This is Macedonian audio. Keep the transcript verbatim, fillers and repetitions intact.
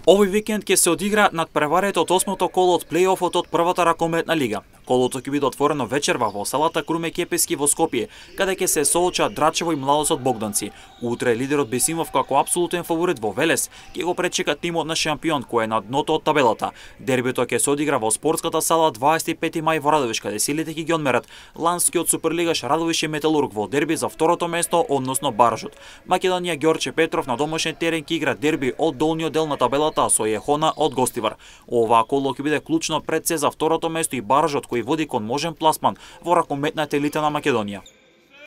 Овој викенд ќе се одигра надпреварата од осмото коло од плејофот од првата ракометна лига. Колото ќе биде отворено вечерва во салата Круме Кепески во Скопје, каде ќе се соочат Драчево и Младосот Богданци. Утре лидерот Бесимов како апсолутен фаворит во Велес ќе го пречека тимот на шампион кој е на дното од табелата. Дербито ќе се одигра во спортската сала дваесет и пети мај во Радовиш, каде силите ќе ги одмерат ланскиот суперлигаш Радовиш и Металург во дерби за второто место, односно баражот. Македонија Ѓорче Петров на домашен терен ќе игра дерби од долниот дел на табелата со Јехона од гостивар. Оваа коло ќе биде клучно пред се за второто место и баражот кој води кон можен пласман во ракометната елита на Македонија.